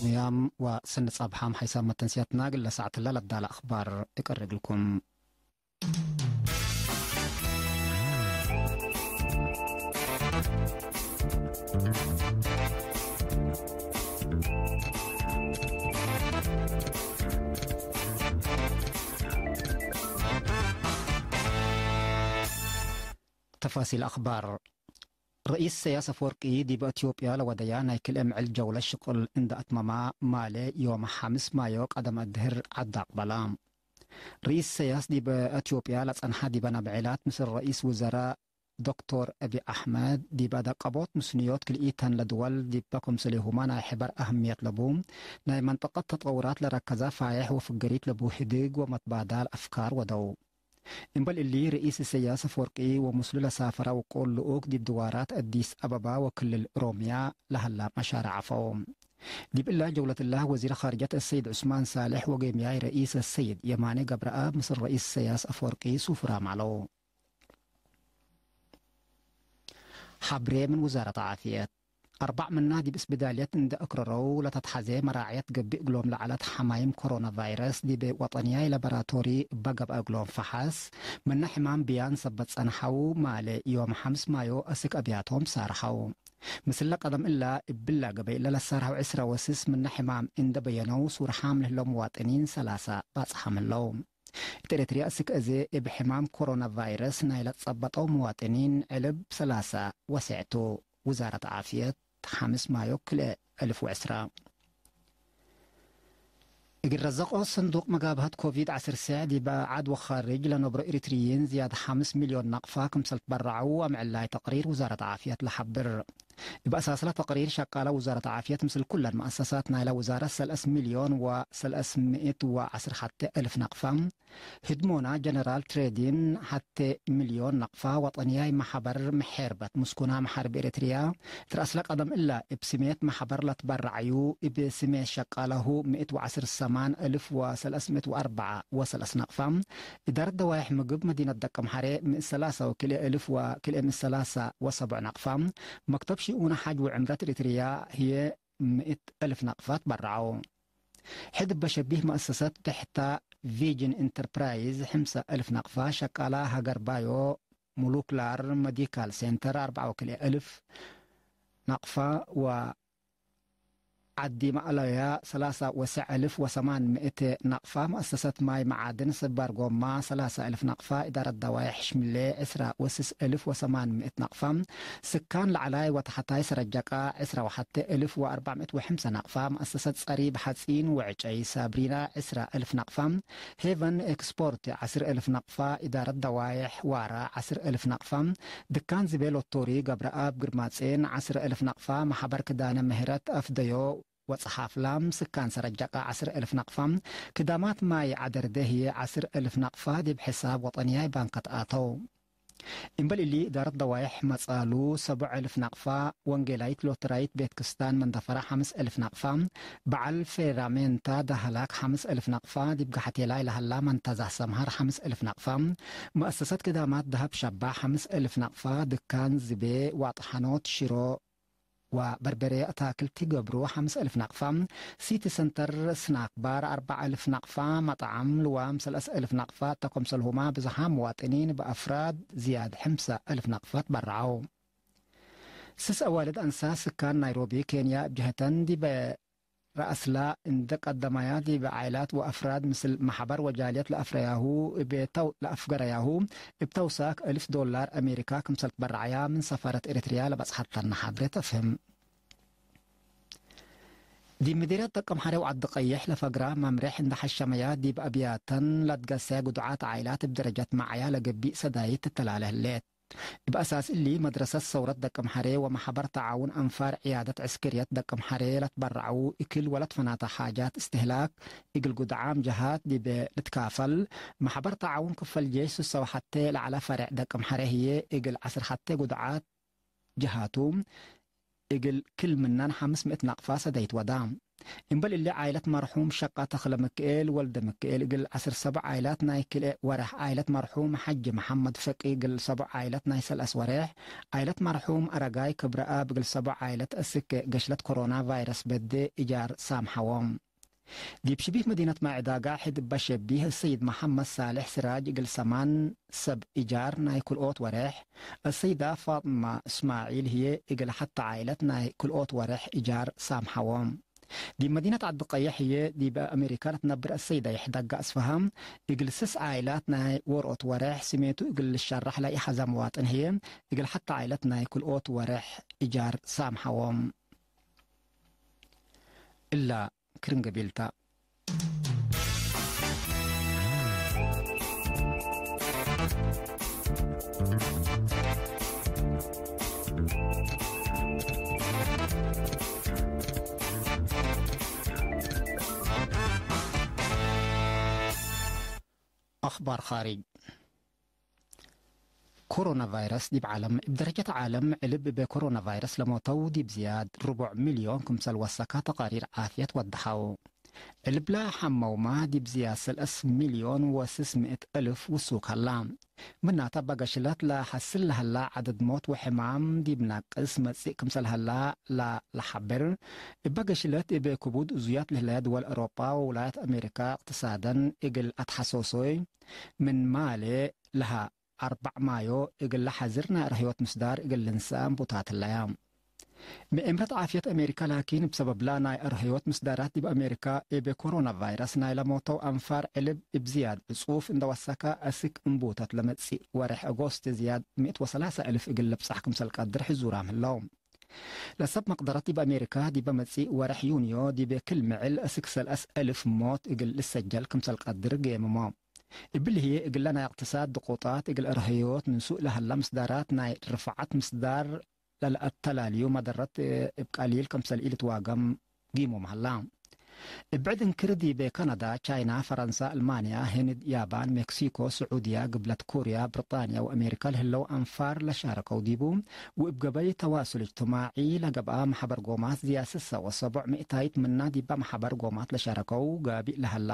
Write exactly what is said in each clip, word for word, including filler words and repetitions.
ያም ወሰኒ ጸብሓም ሓይሳም መተንስያትና እግለ ሳዕትለ ለዳለ አኽባር እቀርግልኩም። ተፋሲል አኽባር። ርኢስ ኢሰያስ አፈወርቂ ዲብ አትዮጵያ ለወደያ ናይ ክልኤ ምዕል ጀውለት ሽቁል እንደ አትመማ፣ ማሌ ዮም ሐምስ ማዮ ቀደም አድህር ዐድ አቅበላ። ርኢስ ኢሰያስ ዲብ አትዮጵያ ለጸንሐ ዲበ ነብዔላት ምስል ረኢስ ውዘራእ ዶክቶር አቢ አሕመድ፣ ዲብ አደቀቦት ምስንዮት ክልኢተን ለድወል ዲበ ክምስሌሁመ ናይ ሕበር አህምየት ለቡ ናይ መንጠቀት ተጠውራት ለረከዘ ፋዬሕ ወፍገሪት ለቡ ህድግ ወመትባዳል አፍካር ወደው። እምበል እሊ፣ ርኢስ ኢሰያስ አፈወርቂ ወምስሉ ለሳፈረ ውቁል ልኡክ ዲብ ድዋራት አዲስ አበባ ወክልል ኦሮምያ ለሀላ መሻርዕ ዐፈው። ዲብ እላ ጀውለት እላ፣ ወዚር ኻርጀት አሰይድ ዑስማን ሳልሕ ወጌምያይ ረኢስ አሰይድ የማኔ ገብረአብ ምስል ረኢስ ኢሰያስ አፈወርቂ ሱፍራም ዐለው። ሐብሬ ምን ውዛረት ዓፍየት። አርበዕ ምና ዲብ እስብዳልየት እንደ አክረረው ለተትሐዜ መራዕየት ገብእ እግሎም ለዐለት ሐማይም ኮሮና ቫይረስ ዲብ ወጠንያይ ላቦራቶሪ እበ ገብአ እግሎም ፈሐስ፣ ምነ ሕማም ብያን ሰበት ጸንሐው፣ ማሌ ዮም ሐምስ ማዮ አስክ አብያቶም ሳርሐው። ምስለ ቀደም እላ እብላ ገበይ እለ ለሳርሐው ዕስረ ወስስ ምነ ሕማም እንደ በየነው ሱርሓም ለህለው መዋጥኒን ሰላሳ ባጽሓም ህለው። እት ኤረትርያ እስክ አዜ እብ ሕማም ኮሮና ቫይረስ ናይ ለትጸበጠው መዋጥኒን ዕልብ ሰላሳ ወሴዕ ቱ። ውዛረት ዓፍየት፣ ሐምስ ማዮ ክልኤ አልፍ ወዕስራ። እግል ረዘቆ ሰንዱቅ መጋብሀት ኮቪድ ዐስር ሴዕ ዲበ ዐድ ወኻርጅ ለነብሮ ኤሪትርይን ዝያድ ሐምስ ሚልዮን ናቅፋ ክምሰል ትበረዐው አምዕላይ ተቅሪር ውዛረት ዓፍየት ለሐብር። እብ አሳስለ ተቅሪር፣ ሸቃለ ውዛረት ዓፍየት ምስል ኩለን መአሰሳት ናይለ ውዛረት ሰለስ ሚልዮን ወሰለስ ምእት ወዐስር ሐቴ እልፍ ናቅፋ፣ ህድሞና ጀነራል ትሬዲን ሐቴ ሚልዮን ናቅፋ፣ ወጠንያይ መሐበር ምሔርበት ምስኩና መሓርብ ኤረትርያ፣ እት ረአስለ ቀደም እለ እብ ስሜት መሐበር ለትበረዐዩ፣ እብ ስሜት ሸቃለሁ ምእት ወዐስር ሰማን እልፍ ወሰለስ ምእት ወአርበዓ ወሰለስ ናቅፋ፣ እዳረት ደዋይሕ ምግብ መዲነት ደቀምሐሬ ምእት ሰላሳ ወክልኤ እልፍ ወክልኤ ምእት ሰላሳ ወሰቡዕ ናቅፋ፣ መክተብ ሽኡነ ሐጅ ወዕምረት ኤረትርያ ህዬ ምእት እልፍ ናቅፋ ትበረዐው። ሕድ እበ ሸቢህ መአሰሰት ብሕታ ቪጅን ኢንተርፕራይዝ፣ ሕምሰ እልፍ ናቅፋ፣ ሸቃላ ሀገር ባዮ ሞሉክላር መዲካል ሴንተር፣ አርበዓ ወክልኤ እልፍ ናቅፋ፣ ወ ዐዲ ማእለያ ሰላሳ ወሰዕ እልፍ ወሰማን ምእት ናቅፋ፣ መአሰሰት ማይ መዓድን ስባር ጎማ ሰላሳ እልፍ ናቅፋ፣ እዳረት ደዋይሕ ሽምሌ ዕስራ ወስስ እልፍ ወሰማን ምእት ናቅፋ፣ ስካን ለዐላይ ወተሐታይ ሰረጀቃ ዕስራ ወሐቴ እልፍ ወአርበዕ ምእት ወሐምሰ ናቅፋ፣ መአሰሰት ጸሪብ ሐጺን ወዕጨይ ሳብሪና ዕስራ እልፍ ናቅፋ፣ ሄቨን ኤክስፖርት ዐስር እልፍ ናቅፋ፣ እዳረት ደዋይሕ ዋራ ዐስር እልፍ ናቅፋ፣ ድካን ዝቤ ሎቶሪ ገብረአብ ግርማጼን ዐስር እልፍ ናቅፋ፣ መሐበር ክዳነ ምህረት አፍደዮ ወጸሓፍላም ስካን ሰረጀቃ ዐስር እልፍ ናቅፋ፣ ክዳማት ማይ ዐደርደ ህዬ ዐስር እልፍ ናቅፋ ዲብ ሕሳብ ወጠንያይ ባንከት አተው። እምበል እሊ፣ እዳረት ደዋይሕ መጻሉ ሰቡዕ እልፍ ናቅፋ፣ ወንጌላይት ሎተራይት ቤት ክስታን መንደፈራ ሐምስ እልፍ ናቅፋ፣ በዐል ፌራሜንታ ደሀላክ ሐምስ እልፍ ናቅፋ፣ ዲብ ገሐቴላይ ለሀላ መንተዛህ ሰምሃር ሐምስ እልፍ ናቅፋ፣ መአሰሰት ክዳማት ደሀብ ሸባ ሐምስ እልፍ ናቅፋ፣ ድካን ዝቤ፣ ዋጥሐኖት፣ ሽሮ፣ ወበርበሬ አታክልት ገብሩ ሐምስ እልፍ ናቅፋ፣ ሲቲ ሰንተር ስናክ ባር አርበዕ እልፍ ናቅፋ፣ መጥዓም ልዋም ሰለስ እልፍ ናቅፋ፣ እተ ክምሰልሁማ ብዝሓም መዋጥኒን በአፍራድ ዝያድ ሕምሰ እልፍ ናቅፋ ትበረዐው። ስስ አዋልድ አንሳ ስካን ናይሮቢ ኬንያ እብ ጀህተን ዲበ ረአስላ እንደ ቀደማያ ዲብ ዓኢላት ወአፍራድ ምስል መሐበር ወጃልየት ለአፍረያሁ እብ ተው-፣ ለአፍገረያሁ እብ ተውሳክ እልፍ ዶላር አሜሪካ ክምሰል ትበረዐያ ምን ሰፋረት ኤረትርያ ለበጽሐተነ ሐብሬ ተፍህም። ዲብ ምዲርየት ደቀምሐሬ ወዐዲ ቀይሕ ለፈግራ መምሬሕ እንደ ሐሸመያ ዲብ አብያተን ለትገሰ ግዱዓት ዓኢላት እብ ደረጀት መዓያ ለገብእ ሰዳይት ትተላለ ህሌት። እብ አሳስ እሊ፣ መድረሰት ሰውረት ደቅምሐሬ ወመሐበር ተዓውን አንፋር ዕያደት ዕስክርየት ደቅምሐሬ ለትበረዐው እክል ወለትፈናተ ሓጃት እስትህላክ እግል ጉድዓም ጀሃት ዲብ ልትካፈል፣ መሐበር ተዓውን ክፈል ጄሽ ስሰው ሐቴ ለዐለ ፈሬዕ ደቅምሐሬ ህዬ እግል ዐስር ሐቴ ጉድዓት ጀሃቱ እግል ክል ምናን ሐምስ ምእት ናቅፋ ሰደይት ወዳ። እምበል እሊ፣ ዓይለት መርሑም ሸቃ ተክለ ምክኤል ወልደ ምክኤል እግል ዐስር ሰቦዕ ዓይላት ናይ ክልኤ ወሬሕ፣ ዓይለት መርሑም ሐጂ መሐመድ ፈቂ እግል ሰቦዕ ዓይለት ናይ ሰልአስ ወሬሕ፣ ዓይለት መርሑም አረጋይ ክብረአብ እግል ሰቦዕ ዓይለት እስክ ገሽለት ኮሮና ቫይረስ በዴ እጃር ሳምሐዎም። ዲብ ሽቢህ መዲነት ማይ ዕዳጋ ሕድ እበ ሸቢህ፣ እሰይድ መሐመድ ሳልሕ ስራጅ እግል ሰማን ሰብ እጃር ናይ ክልኦት ወሬሕ፣ እሰይዳ ፋጥማ እስማዒል ህዬ እግል ሐተ ዓይለት ናይ ክልኦት ወሬሕ እጃር ሳምሐዎም። ዲብ መዲነት ዐዲ ቀየሕ ህዬ ዲብ አሜሪካ ለትነብር እሰይዳ ይሕደጋ አስፍሃም፣ እግል ስስ ዓይላት ናይ ወርኦት ወሬሕ ስሜቱ እግል ልሸራሕ ለኢሐዛ መዋጥን ህዬ፣ እግል ሐተ ዓይለት ናይ ክልኦት ወሬሕ እጃር ሳምሐዎም። እላ ክርን ገቢልታ። አኽባር ኻሪጅ። ኮሮና ቫይረስ ዲብ ዓለም፣ እብ ደረጀት ዓለም ዕልብ እበ ኮሮና ቫይረስ ለሞተው ዲብ ዝያድ ርቡዕ ሚልዮን ክምሰል ወሰካ ተቃሪር ዓፍየት ወደሐው። ዕልብላ ሐመውማ ዲብ ዝያድ ሰለስ ሚልዮን ወስስ ምእት እልፍ ውሱክ ሀላ። ምናተ እበ ገሽለት ለሐስል ለሀላ ዐደድ ሞት ወሕማም ዲብ ናቅስ መጽእ ክምሰል ሀላ ለሐብር። እበ ገሽለት እበ ክቡድ እዙያት ለህለየ ድወል አውሮጳ ወውላየት አሜሪካ እቅትሳደን እግል አትሐሶሶይ ምን ማሌ ለሀ አርበዕ ማዮ እግል ለሐዝር ናይ አርህዮት ምስዳር እግል ልንሰአም ቡታት ህለያ። ምእምረት ዓፍየት አሜሪካ ላኪን፣ እብ ሰበብላ ናይ አርህዮት ምስዳራት ዲብ አሜሪካ፣ እብ ኮሮና ቫይረስ ናይ ለሞተው አንፋር ዕልብ እብ ዝያድ ዕጹፍ እንደ ወሰከ፣ አስክ እምቡተት ለመጽእ ወሬሕ አጎስት ዝያድ ምእት ወሰላሳ እልፍ እግል ልብጻሕ ክምሰል ቀድር ሕዙራም ህለው። ለሰብ መቅደረት ዲብ አሜሪካ፣ ዲበ መጽእ ወሬሕ ዩንዮ፣ ዲብ ክል ምዕል አስክ ሰለስ እልፍ ሞት እግል ልሰጀል ክምሰል ቀድር ጌምሞ። እብሊ ህዬ፣ እግለ ናይ እቅትሳድ ድቁጣት እግል አርህዮት ንሱእ ለሀላ ምስዳራት ናይ ርፍዓት ምስዳር ለለአተላልዩ መደረት እብ ቀሊል ክምሰል ኢልትዋገም ጊሙም ሀላ። እብ ብዕድ እንክር፣ ዲብ ካናዳ፣ ቻይና፣ ፈረንሳ፣ አልማንያ፣ ህንድ፣ ያባን፣ ሜክሲኮ፣ ስዑድያ፣ ግብለት ኮርያ፣ ብርጣንያ ወአሜሪካ ለህለው አንፋር ለሻረከው ዲቡ፣ ወእብ ገበይ ተዋሱል እጅትማዒ ለገብአ መሐበር ጎማት ዝያድ ስሰ ወሰቦዕ ምእታይት ምና ዲበ መሐበር ጎማት ለሻረከው ጋቢእ ለሀላ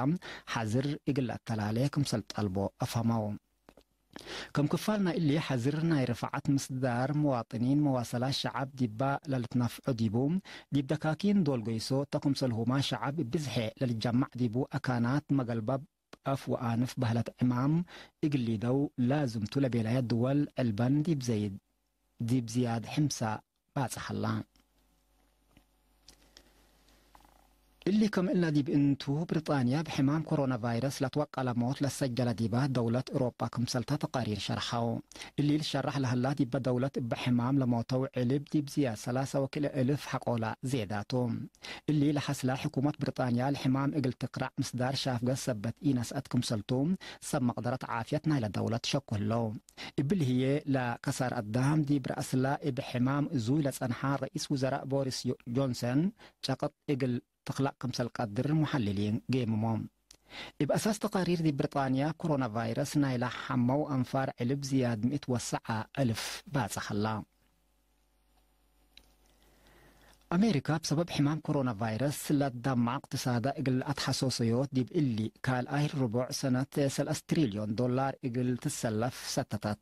ሐዝር እግል ለአተላሌ ክምሰል ጠልቦ አፍሀመው። ከም ክፋል ናይ እሊ ሐዝር ናይ ርፍዓት ምስዳር፣ መዋጥኒን መዋሰላት ሸዐብ ዲባ ለልትነፍዖ ዲቡ፣ ዲብ ደካኪን ዶል ገይሶ እተ ክምሰልሁማ ሸዐብ እብ ብዝሐ ለልጀማዕ ዲቡ፣ አካናት መገልበብ አፍ ወአንፍ በህለት ዕማም እግል ሊደው ላዝም ቱ ለቤለየ ድወል ዕልበን ዲብ ዘይድ፣ ዲብ ዝያድ ሕምሳ ባጽሕ ሀላ። እሊ ከም እለ ዲብ እንቱ፣ ብሪጣንያ እብ ሕማም ኮሮና ቫይረስ ለትወቀለ ሞት ለሰጀለ ዲባ ደውለት ኤውሮጳ ክምሰልተ ተቃሪር ሸርሐው። እሊ ልሸራሕ ለሀላ ዲበ ደውለት እበ ሕማም ለሞተው ዕልብ ዲብ ዝያድ ሰላሳ ወክልኤ እልፍ ሐቆላ ዜዳቱ። እሊ ለሐስለ ሕኩመት ብሪጣንያ ለሕማም እግል ትክራዕ ምስዳር ሻፍገት ሰበት ኢነስአት ክምሰልቱ ሰብ መቅደረት ዓፍየት ናይለ ደውለት ሸኩ ህለው። እብሊ ህዬ ለከሳር አዳም ዲብ ረአስላ እብ ሕማም እዙይ ለጸንሐ ረኢስ ውዘራእ ቦሪስ ጆንሰን ጨቅጥ እግል ትክላእ ክምሰል ቀድር ሙሐልሊን ጌምሞም። እብ አሳስ ተቃሪር ዲብ ብሪጣንያ ኮሮና ቫይረስ ናይለ ሐመው አንፋር ዕልብ ዝያድ ምእት ወሰዓ እልፍ ባጽሕ ሀላ። አሜሪካ፣ እብ ሰበብ ሕማም ኮሮና ቫይረስ ለትደማዕ እቅትሳዳ እግል አትሐሶሰዮት፣ ዲብ እሊ ካልኣይ ርቡዕ ሰነት ሰለስ ትሪልዮን ዶላር እግል ትሰለፍ ሰተተት።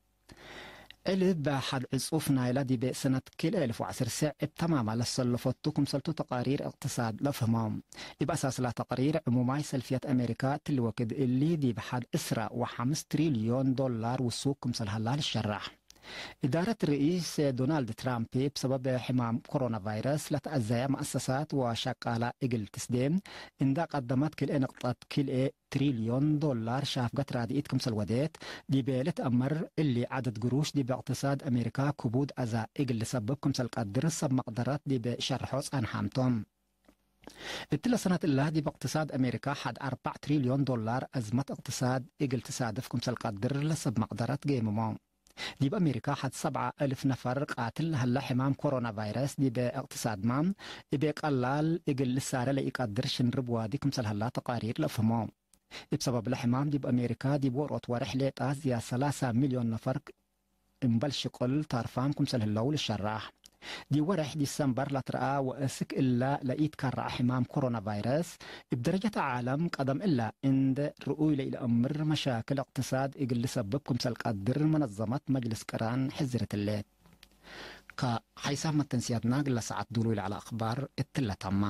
ዕልብ ሐድ ዕጹፍ ናይላ ዲብ ሰነት ክልኤ እልፍ ወዐስር ሰዕ እብ ተማማ ለሰለፈቱ ክምሰልቱ ተቃሪር እቅትሳድ ለፍህመው። እብ አሳስላ ተቅሪር ዕሙማይ ሰልፍየት አሜሪካ እትሊ ወክድ እሊ ዲብ ሐድ ዕስራ ወሐምስ ትሪልዮን ዶላር ውሱክ ክምሰል ሀላ ልሸራሕ። እዳረት ርኢስ ዶናልድ ትራምፕ፣ እብ ሰበብ ሕማም ኮሮና ቫይረስ ለተአዘየ መአሰሳት ወሸቃላ እግል ትስዴ እንዳ ቀደመት፣ ክልኤ ንቅጠት ክልኤ ትሪልዮን ዶላር ሻፍገት ራድኢት ክምሰል ወዴት ዲበ ልትአመር፣ እሊ ዐደድ ግሩሽ ዲብ እቅትሳድ አሜሪካ ክቡድ አዛ እግል ልሰብብ ክምሰል ቀድር ሰብ መቅደረት ዲብ ሸርሖ ጸንሓም ቶም። እትለ ሰነት እላ ዲብ እቅትሳድ አሜሪካ ሐድ አርበዕ ትሪልዮን ዶላር አዝመት እቅትሳድ እግል ትሳድፍ ክምሰል ቀድር ለሰብ መቅደረት ጌምሞ። ዲብ አሜሪካ ሐድ ሰብዓ እልፍ ነፈር ቃትል ለሀላ ሕማም ኮሮና ቫይረስ ዲብ እቅትሳድማ እብ ቀላል እግል ልሳረ ለኢቀድር ሽንርብ ዋዲ ክምሰል ሀላ ተቃሪር ለአፍህሞ። እብ ሰበብ ለሕማም ዲብ አሜሪካ ዲብ ዎሮት ወሬሕ ሌጣ ዝያድ ሰላሳ ሚልዮን ነፈር እምበል ሽቅል ታርፋም ክምሰል ህለው ልሸራሕ። ዲብ ወሬሕ ዲሰምበር ለትረአ ወእስክ እለ ለኢትከረዐ ሕማም ኮሮና ቫይረስ፣ እብ ደረጀት ዓለም ቀደም እለ እንዴ ርኡይ ለኢለአምር መሻክል እቅትሳድ እግል ልሰብብ ክምሰል ቀድር መነዘመት መጅልስ ቅራን ሐዚረት ህሌት። ከሐይሳብ መተንስያትና እግለ ሰዓት ዱሉይ ለዐለ አክባር እትለ ተመ።